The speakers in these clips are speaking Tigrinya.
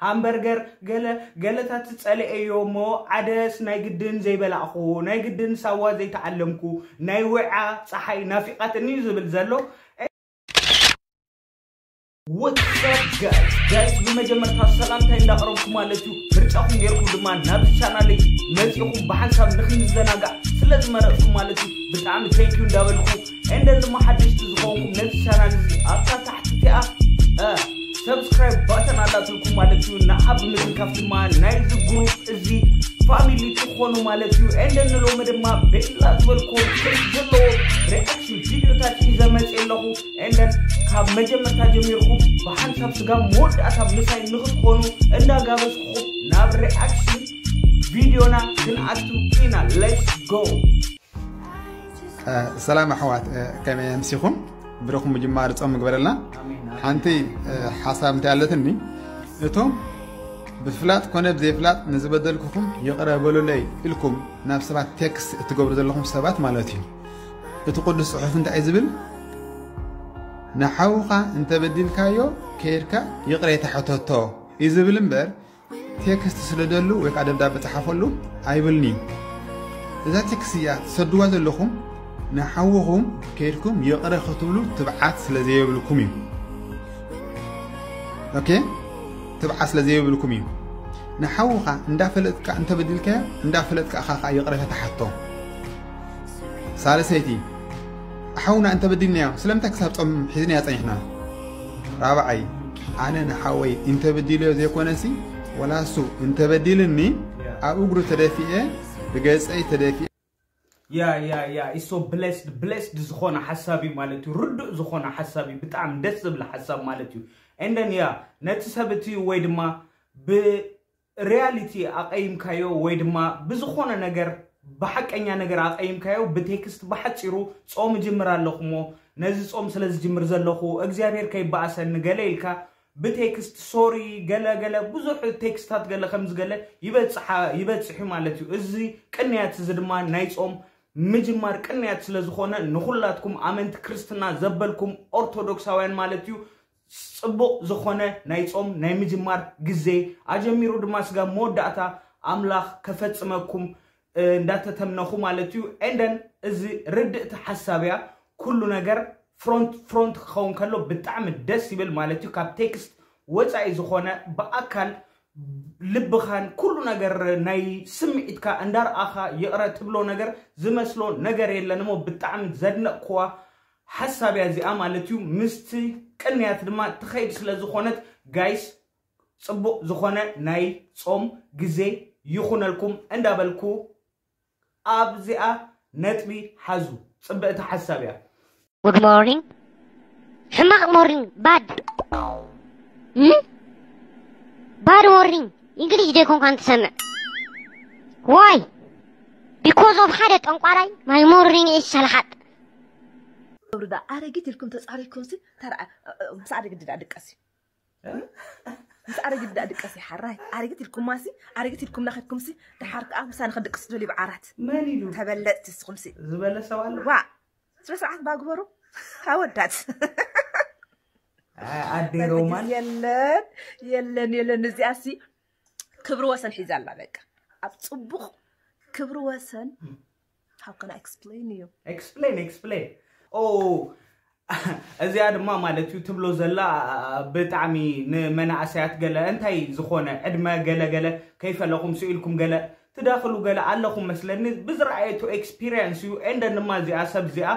ሃምበርገር ገለ ገለታት ዝጸልኤዮ እሞ ዓደስ ናይ ግድን ዘይበላእኹ ናይ ግድን ሳዋ ዘይተዓለምኩ ናይ ውዓ ጸሓይ ናፊቓትኒ እዩ ዝብል ዘሎ። What's up guys? Guys ብመጀመርታ ሰላምታይ እንዳቕረብኩ ማለት እዩ። ምርጫኹም ጌርኩም ድማ ናብ ቻናለይ መጺኹም ብሓንሳብ ንክንዘናጋዕ ስለ ዝመረጽኩም ማለት እዩ ብጣዕሚ thank you እንዳበልኩ፣ and then ድማ ሓደሽቲ ዝኾንኩም ነዚ ቻናል እዚ ኣብታ ታሕቲ እቲኣ subscribe button ኣላትልኩም ማለት እዩ። ንዓ ብምትንካፍ ድማ ናይዚ ግሩፕ እዚ ፋሚሊ ትኾኑ ማለት እዩ። And then ንሎሚ ድማ ቤላ ዝበልኩም ከይት ዘለዎ ሪኣክሽን ቪዲዮታት ሒዘ መፅእ ኣለኹ። And then ካብ መጀመርታ ጀሚርኩም ብሓንሳብ ስጋብ መወዳእታ ምሳይ ንክትኾኑ እንዳጋበዝኩኹም ናብ ሪኣክሽን ቪዲዮና ክንኣቱ ኢና። Let's go። ሰላም ኣሕዋት፣ ከመይ ኣምሲኹም? ብሩኽ ምጅማር ጾም ምግበረልና። ሓንቲ ሓሳብ እንታይ ኣለትኒ፣ እቶም ብፍላጥ ኮነ ብዘይፍላጥ ንዝበደልኩኹም ይቕረ በሉለይ ኢልኩም ናብ ሰባት ቴክስት እትገብሩ ዘለኹም ሰባት ማለት እዩ። እቲ ቅዱስ ጽሑፍ እንታይ እዩ ዝብል? ንሓውኻ እንተበዲልካዮ ከይድካ ይቕሬታ ሕተቶ እዩ ዝብል እምበር ቴክስት ስደደሉ ወይ ከዓ ደብዳቤ ጸሓፈሉ ኣይብልን እዩ። እዛ ቴክስት እያ ትሰድዋ ዘለኹም ንሓውኹም ከይድኩም ይቕረ ክትብሉ ትብዓት ስለ ዘየብልኩም እዩ። ኦኬ፣ ትብዓት ስለ ዘየብልኩም እዩ። ንሓውኻ እንዳፈለጥካ እንተበዲልካዮ እንዳፈለጥካ ኢኻ ከዓ ይቕሬታ ትሓቶ። ሳልሰይቲ ሓውና እንተበዲልናዮ ስለምንታይ ክሳብ ጾም ሒዝናዮ ጸኒሕና? ራብዓይ ኣነ ንሓወይ እንተበዲለዮ ዘይኮነሲ ወላ እሱ እንተበዲልኒ ኣብ እግሩ ተደፊኤ ብገጸይ ተደፊኤ ያ ያ ያ ኢሶ ብሌስድ ብሌስድ ዝኾነ ሓሳብ እዩ ማለት እዩ። ርዱእ ዝኾነ ሓሳብ እዩ። ብጣዕሚ ደስ ዝብል ሓሳብ ማለት እዩ። And then ያ ነቲ ሰብ እቲ ወይ ድማ ብ ሪያሊቲ ኣቐይምካዮ ወይ ድማ ብዝኾነ ነገር ብሓቀኛ ነገር ኣቐይምካዮ ብቴክስት ብሓፂሩ ጾም እጅምር ኣለኹ እሞ ነዚ ጾም ስለ ዝጅምር ዘለኹ እግዚኣብሔር ከይበኣሰኒ ገለ ኢልካ ብቴክስት ሶሪ ገለ ገለ ብዙሕ ቴክስታት ገለ ከምዚ ገለ ይበፅሓ ይበፅሕ እዩ ማለት እዩ። እዚ ቅንያት እዚ ድማ ናይ ጾም ምጅማር ቅንያት ስለ ዝኾነ ንኹላትኩም ኣመንቲ ክርስትና ዘበልኩም ኦርቶዶክሳውያን ማለት እዩ ጽቡቕ ዝኾነ ናይ ጾም ናይ ምጅማር ግዜ ኣጀሚሩ ድማ ስጋብ መወዳእታ ኣምላኽ ከፈጽመኩም እንዳተተምነኹ ማለት እዩ። And then እዚ ርድእቲ ሓሳብ እያ። ኩሉ ነገር ፍሮንት ፍሮንት ክኸውን ከሎ ብጣዕሚ ደስ ይብል ማለት እዩ። ካብ ቴክስት ወፃኢ ዝኾነ ብኣካል ልብኻን ኩሉ ነገር ናይ ስምዒትካ እንዳርኣኻ ይቕረ ትብሎ ነገር ዝመስሎ ነገር የለን እሞ ብጣዕሚ ዘድነቕኩዋ ሓሳብ እያ እዚኣ ማለት እዩ። ምስቲ ቅንያት ድማ ትኸይድ ስለ ዝኾነት ጋይስ ጽቡቕ ዝኾነ ናይ ጾም ግዜ ይኹነልኩም እንዳበልኩ ኣብዚኣ ነጥቢ ሓዙ። ጽብቕቲ ሓሳብ እያ። Good morning። ሕማቕ ሞርኒንግ ባድ ባድ ሞርኒንግ። እንግሊሽ ዶ ኣይኮንካን ትሰምዕ? ዋይ ቢኮዝ ኦፍ ሓደ ጠንቋራይ ማይ ሞርኒንግ ኢዝ ሰልሓጥ። ገብርዳ ኣረጊት ኢልኩም ተጻሪኩም ሲ ተራ ምስ ኣረጊት ድዳ ድቀስ እዩ ምስ ኣረጊት ድዳ ድቀስ እዩ ሓራይ ኣረጊት ኢልኩማ ሲ ኣረጊት ኢልኩም ናኸድኩም ሲ ድሓር ከኣ ምሳኒ ክድቅስ ደልዩ ብዓራት መን ኢሉ ተበለጽቲ ንስኹም ሲ ዝበለ ሰብ ኣሎ? ዋ ስነ ስርዓት ባግበሩ ኣወዳት ኣይ፣ ኣደይ ሮማን የለን የለን የለን እዚኣ ሲ ክብሪ ወሰን ሒዛ ኣላ በቃ ኣብ ጽቡቕ ክብሪ ወሰን how can I explain you explain explain ኦ እዚኣ ድማ ማለት እዩ ትብሎ ዘላ ብጣዕሚ ንመናእሰያት ገለ እንታይ ዝኾነ ዕድመ ገለ ገለ ከይፈለኹም ስኢልኩም ገለ ትዳኽሉ ገለ ኣለኹም መስለኒ ብዝረኣየቶ ኤክስፒሪየንስ እዩ and then ድማ እዚኣ ሰብ እዚኣ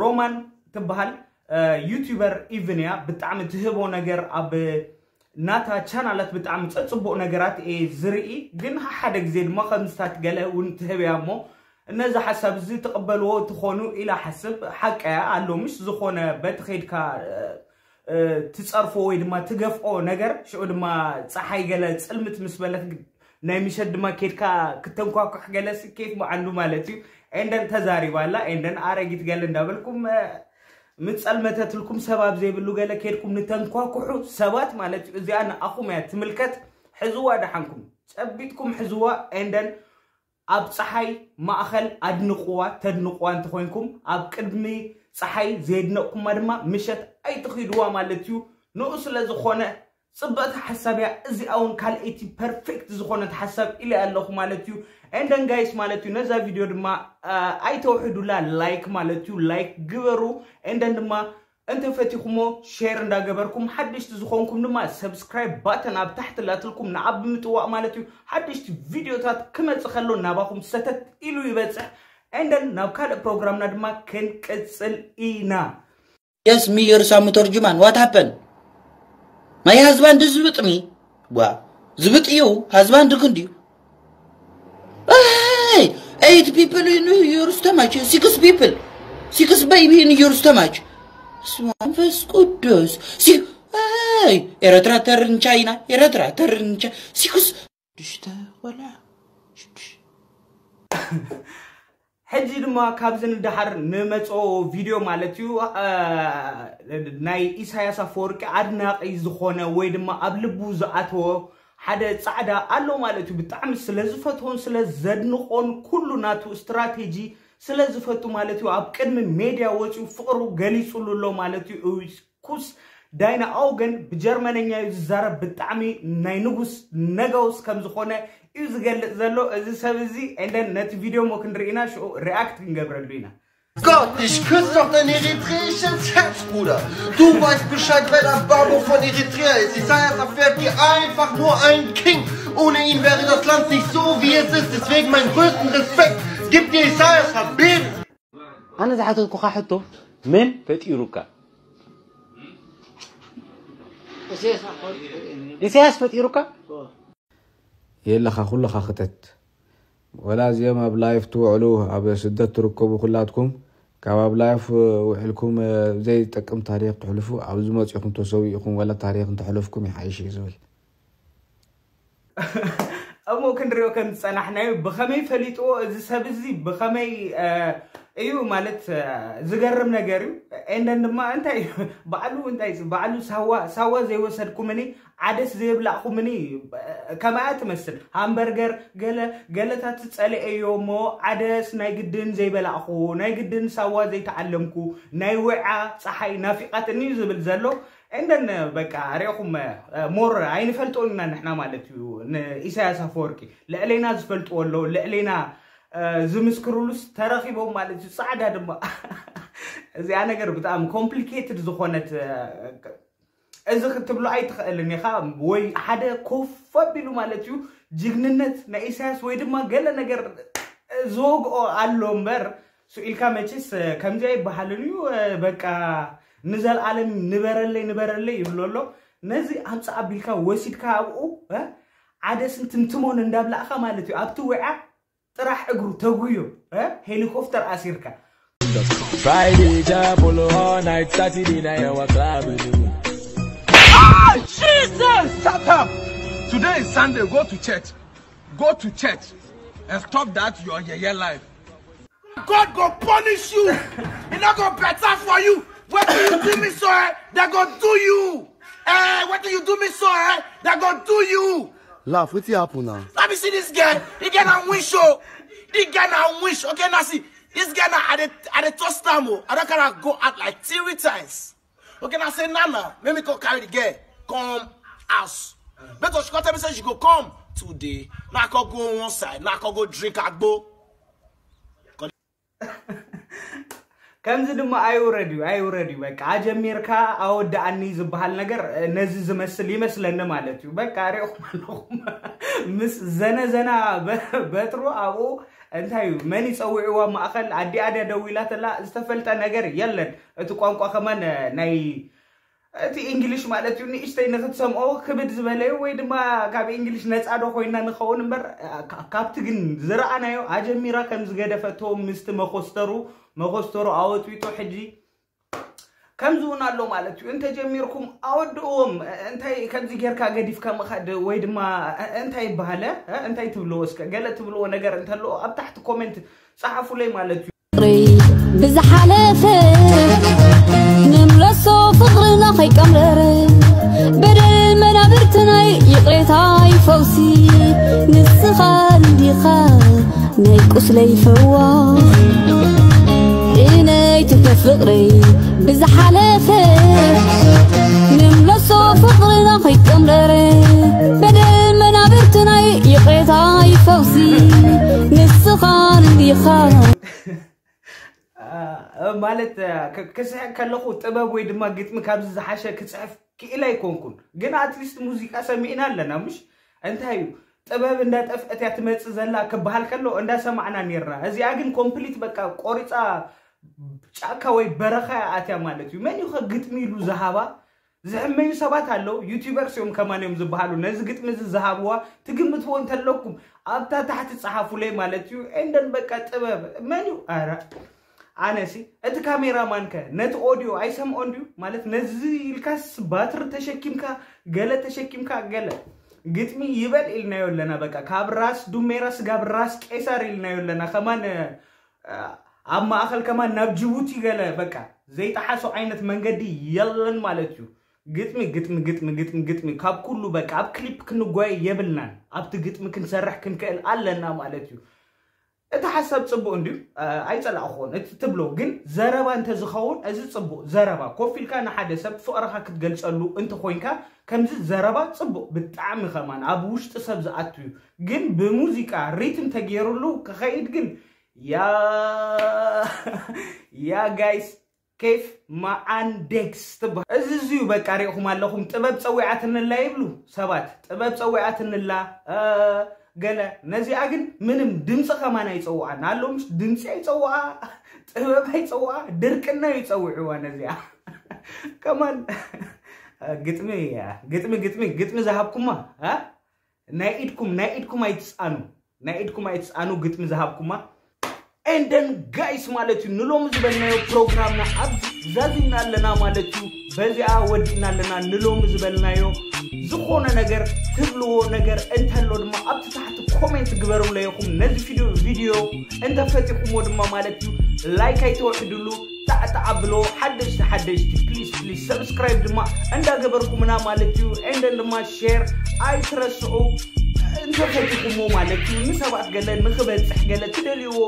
ሮማን ትበሃል ዩቲዩበር ኢቭን እያ ብጣዕሚ ትህቦ ነገር ኣብ ናታ ቻናላት ብጣዕሚ ጸጽቡቕ ነገራት እየ ዝርኢ ግን ሓደ ግዜ ድማ ከምዝታት ገለ እውን ትህብ እያ እሞ ነዚ ሓሳብ እዚ ትቕበልዎ ትኾኑ ኢላ ሓስብ ሓቀያ ኣሎ ምሽ ዝኾነ በቲ ኸይድካ ትጸርፎ ወይ ድማ ትገፍኦ ነገር ሽዑ ድማ ፀሓይ ገለ ፅልምት ምስ በለት ናይ ምሸት ድማ ኬድካ ክተንኳኩሕ ገለ ስኬፍ መዓንዱ ማለት እዩ ኤንደን ተዛሪባላ ኤንደን ኣረጊት ገለ እንዳበልኩም ምጸልመተትልኩም ሰባብ ዘይብሉ ገለ ኬድኩም ንተንኳኩሑ ሰባት ማለት እዩ እዚኣ ንኣኹም እያ ትምልከት ሕዝዋ ደሓንኩም ጨቢጥኩም ሕዝዋ ኤንደን ኣብ ፀሓይ ማእኸል ኣድንቕዋ ተድንቕዋ እንተኾይንኩም ኣብ ቅድሚ ፀሓይ ዘየድነቕኩማ ድማ ምሸት ኣይትኺድዋ ማለት እዩ ንኡ ስለ ዝኾነ ጽብቕቲ ሓሳብ እያ እዚኣ እውን ካልኣይቲ ፐርፌክት ዝኾነት ሓሳብ ኢለ ኣለኹ ማለት እዩ። And then guys ማለት እዩ ነዛ ቪድዮ ድማ ኣይተውሕዱላ፣ ላይክ ማለት እዩ ላይክ ግበሩ። And then ድማ እንተፈቲኹሞ ሼር እንዳገበርኩም ሓደሽቲ ዝኾንኩም ድማ ሰብስክራይብ ባተን ኣብ ታሕቲ ላትልኩም ንዓ ብምጥዋቕ ማለት እዩ። ሓደሽቲ ቪድዮታት ክመጽእ ከሎ ናባኹም ሰተት ኢሉ ይበጽሕ። And then ናብ ካልእ ፕሮግራምና ድማ ክንቅጽል ኢና። Yes, me, your Sam Torjuman. What happened? My husband is with me. What? Is with you? Husband, look at you. Hey, eight people in your stomach. Six people. Six baby in your stomach. Swampus Kudus. Si hey, Eritrea turn China. Eritrea turn China. Six. Dishta wala. ሕጂ ድማ ካብዚ ንደሓር ንመፅኦ ቪድዮ ማለት እዩ። ናይ ኢሳያስ ኣፈወርቂ ኣድናቂ ዝኾነ ወይ ድማ ኣብ ልቡ ዝኣተወ ሓደ ፃዕዳ ኣሎ ማለት እዩ። ብጣዕሚ ስለ ዝፈትዎን ስለ ዘድንቆን ኩሉ ናቱ ስትራቴጂ ስለ ዝፈቱ ማለት እዩ ኣብ ቅድሚ ሜድያ ወፂኡ ፍቅሩ ገሊፁሉ ኣሎ ማለት እዩ። ኩስ ዳይና ኣውገን ብጀርመነኛ እዩ ዝዛረብ። ብጣዕሚ ናይ ንጉስ ነገውስ ከም ዝኾነ እዩ ዝገልጽ ዘሎ እዚ ሰብ እዚ። And then ነቲ ቪድዮ ሞ ክንርኢ ኢና፣ ሽዑ ሪኣክት ክንገብረሉ ኢና። Gott, ich küsse doch dein eritreisches Herz, Bruder. Du weißt Bescheid, wer der Babo von Eritrea ist. Isaias Afwerki, einfach nur ein King. Ohne ihn wäre das Land nicht so, wie es ist. Deswegen meinen größten Respekt. Gib dir Isaias Habib. ኣነ ዝሓተትኩኻ ሕቶ መን ፈጢሩካ? ኢሳያስ ፈጢሩካ? የለኻ ኩልኻ ክተት ወላ እዚኦም ኣብ ላይፍ ትውዕሉ ኣብ ስደት ትርከቡ ኩላትኩም ካብ ኣብ ላይፍ ውዕልኩም ዘይጠቅም ታሪክ ትሕልፉ ኣብዚ መፂኹም ተሰዊእኹም ወላ ታሪክ እንተሕለፍኩም ይሓይሽ እዩ ዝብል እሞ ክንሪኦ ከም ዝፀናሕናዩ ብኸመይ ፈሊጥዎ እዚ ሰብ እዚ ብኸመይ እዩ ማለት ዝገርም ነገር እዩ። ኤንደን ድማ እንታይ እዩ ባዕሉ እንታይ እዩ ባዕሉ ሳዋ ሳዋ ዘይወሰድኩምኒ ዓደስ ዘየብላዕኩምኒ ከምኣ ትመስል ሃምበርገር ገለ ገለታት ጸሊኤዮ እሞ ዓደስ ናይ ግድን ዘይበላዕኹ ናይ ግድን ሳዋ ዘይተዓለምኩ ናይ ውዓ ፀሓይ ናፊቓትኒ እዩ ዝብል ዘሎ። እንደን በቃ ሪእኹም ሞር ኣይንፈልጦን ኢና ንሕና ማለት እዩ። ንኢሳያስ ኣፈወርቂ ልዕሌና ዝፈልጥዎ ኣለዉ ልዕሌና ዝምስክሩሉስ ተረኺቦም ማለት እዩ። ፃዕዳ ድማ እዚኣ ነገር ብጣዕሚ ኮምፕሊኬትድ ዝኾነት እዚ ክትብሎ ኣይትኽእልን ኢኻ ወይ ሓደ ኮፍ ኣቢሉ ማለት እዩ ጅግንነት ናይ ኢሳያስ ወይ ድማ ገለ ነገር ዝወግኦ ኣሎ እምበር ስኡ ኢልካ መቼስ ከምዚ ኣይበሃልን እዩ በቃ ንዘልኣለም ንበረለይ ንበረለይ ይብሎ ኣሎ። ነዚ ኣምፃ ኣቢልካ ወሲድካ ኣብኡ ዓደስን ትምትሞን እንዳብላእካ ማለት እዩ ኣብቲ ውዓ ጥራሕ እግሩ ተጉዮ ሄሊኮፍተር ኣሲርካ Friday jabolo all night Saturday night our club. Ah, Jesus! Shut up! Today is Sunday. Go to church. Go to church and stop that your yeye life. God go punish you. It not go better for you. What do you do me so? Eh? They go do you. Eh, what do you do me so? Eh? They go do you. Laugh, wetin happen now? Let me see this guy. He get a wish show. He get a wish. Okay, now see. This guy now at the at the toast time. Oh. I don't gotta go out like three times. Okay, now say Nana, let me go carry the girl. Come house. But she come tell me say she go come today. Now I can go one side. Now I can go drink agbo. ከምዚ ድማ ኣይውረድ እዩ ኣይውረድ እዩ በቃ ኣጀሚርካ ኣወዳኣኒ ዝበሃል ነገር ነዚ ዝመስል ይመስለኒ ማለት እዩ በቃ ሪእኹም ኣለኹም ምስ ዘነዘና በትሩ ኣብኡ እንታይ እዩ መን ይፀውዕዋ ማእኸል ኣዲኣ ድያ ደዊላ ተላ ዝተፈልጠ ነገር የለን እቲ ቋንቋ ከማን ናይ እቲ እንግሊሽ ማለት እዩ ንእሽተይ ንክትሰምኦ ክብድ ዝበለዩ ወይ ድማ ካብ እንግሊሽ ነፃ ዶ ኮይና ንኸውን እምበር ካብቲ ግን ዝረኣናዮ ኣጀሚራ ከም ዝገደፈቶ ምስቲ መኮስተሩ መኮስተሩ ኣወጢጡ ሕጂ ከምዚ እውን ኣሎ ማለት እዩ እንተጀሚርኩም ኣወድእዎም እንታይ ከምዚ ጌርካ ገዲፍካ ምኸድ ወይ ድማ እንታይ ይበሃለ እንታይ ትብልዎ እስከ ገለ ትብልዎ ነገር እንተለዎ ኣብ ታሕቲ ኮሜንት ፀሓፉለይ ማለት እዩ ፍቅረይ ብዝሓለፈ ንምለሶ ፍቅርና ከይቀምረረ በደል መናብርትናይ ይቅሬታይ ፈውሲ ንስኻ እንዲኻ ናይ ቁስለይ ፈዋስ እነይ ትከ ፍቅረይ ብዝሓለፈ ንምለሶ ፍቅርና ከይቀምረረ በደል መናብርትናይ ይቕሬታ ይፈውሲ ንስኻ እንዲኻ። ማለት ክስሕቅ ከለኹ ጥበብ ወይ ድማ ግጥሚ ካብዚ ዝሓሸ ክፅሕፍ ክኢል ኣይኮንኩን። ግን ኣትሊስት ሙዚቃ ሰሚዕና ኣለና። ምሽ እንታይ እዩ ጥበብ እንዳጠፍአት እያ ትመፅእ ዘላ ክበሃል ከሎ እንዳሰማዕና ነርና። እዚኣ ግን ኮምፕሊት በቃ ቆሪፃ ጫካ ወይ በረኻ እያ ኣትያ ማለት እዩ። መን እዩ ግጥሚ ኢሉ ዝሃባ? ዝሕመዩ ሰባት ኣለዉ። ዩቲዩበርስ እዮም ከማን እዮም ዝበሃሉ። ነዚ ግጥሚ እዚ ዝሃብዋ ትግምትዎ እንተለኩም ኣብታ ታሕቲ ፀሓፉለይ ማለት እዩ። ኤንደን በቃ ጥበብ መን እዩ? ኣረ ኣነሲ እቲ ካሜራማን ከ ነቲ ኦዲዮ ኣይሰምዖን ድዩ? ማለት ነዚ ኢልካስ ባትሪ ተሸኪምካ ገለ ተሸኪምካ ገለ ግጥሚ ይበል ኢልናዮ ኣለና። በቃ ካብ ራስ ዱሜራ ስጋብ ራስ ቄሳር ኢልናዮ ኣለና። ከማን ኣብ ማእኸል ከማን ናብ ጅቡቲ ገለ በቃ ዘይጠሓሶ ዓይነት መንገዲ የለን ማለት እዩ። ግጥሚ ግጥሚ ግጥሚ ግጥሚ ግጥሚ ካብ ኩሉ በቃ ኣብ ክሊፕ ክንጓየ የብልናን። ኣብቲ ግጥሚ ክንሰርሕ ክንክእል ኣለና ማለት እዩ። እቲ ሓሳብ ፅቡቅ እንድዩ ኣይፀላእክዎን እቲ ትብሎ ግን ዘረባ እንተዝኸውን እዚ ፅቡቅ ዘረባ ኮፍ ኢልካ ንሓደ ሰብ ፍቅርካ ክትገልፀሉ እንተኮይንካ ከምዚ ዘረባ ፅቡቅ ብጣዕሚ ከማን ኣብ ውሽጢ ሰብ ዝኣቱ እዩ። ግን ብሙዚቃ ሪትም ተገይሩሉ ክኸይድ ግን ያ ያ ጋይስ ኬፍ መዓን ዴክስ ትበሃል። እዚ እዚዩ በቃ ሪእኹም ኣለኹም ጥበብ ፀዊዓትንላ ይብሉ ሰባት። ጥበብ ፀዊዓትንላ ገለ ነዚኣ ግን ምንም ድምፂ ከማን ኣይፀውዓን ኣሎ። ምሽ ድምፂ ኣይፀውዓ ጥበብ ኣይፀውዓ ድርቅና ይፀውዕዋ ነዚኣ ከማን ግጥሚ ግጥሚ ግጥሚ ግጥሚ ዝሃብኩማ ናይ ኢድኩም ናይ ኢድኩም ኣይትፃኑ ናይ ኢድኩም ኣይትፃኑ ግጥሚ ዝሃብኩማ ኤንደን ጋይስ ማለት እዩ ንሎሚ ዝበልናዮ ፕሮግራምና ኣብ ዛዚምና ኣለና ማለት እዩ። በዚኣ ወዲእና ኣለና ንሎሚ ዝበልናዮ ዝኾነ ነገር ትብልዎ ነገር እንተሎ ድማ ኣብቲ ታሕቲ ኮሜንት ግበሩለይኹም። ነዚ ቪዲዮ ቪዲዮ እንተፈቲኹምዎ ድማ ማለት እዩ ላይክ ኣይተውሕድሉ። ጣዕጣዕ ኣብሎ ሓደሽቲ ሓደሽቲ ፕሊስ ፕሊስ ሰብስክራይብ ድማ እንዳገበርኩምና ማለት እዩ። ኤንደን ድማ ሼር ኣይትረስዑ እንተፈቲኹሞ ማለት እዩ። ንሰባት ገለ ንክበፅሕ ገለ ትደልይዎ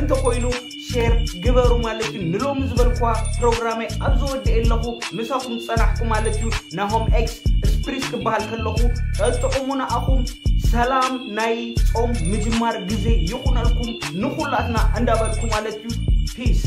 እንተኮይኑ ሼር ግበሩ ማለት እዩ። ንሎሚ ዝበልኳ ፕሮግራመይ ኣብ ዝወድእ ኣለኹ ምሳኹም ዝፀናሕኩ ማለት እዩ። ናሆም ኤክስ ስፕሪስ ክበሃል ከለኹ ጠጥዑሙ ንኣኹም ሰላም ናይ ጾም ምጅማር ግዜ ይኹነልኩም ንኹላትና እንዳበልኩ ማለት እዩ። ፒስ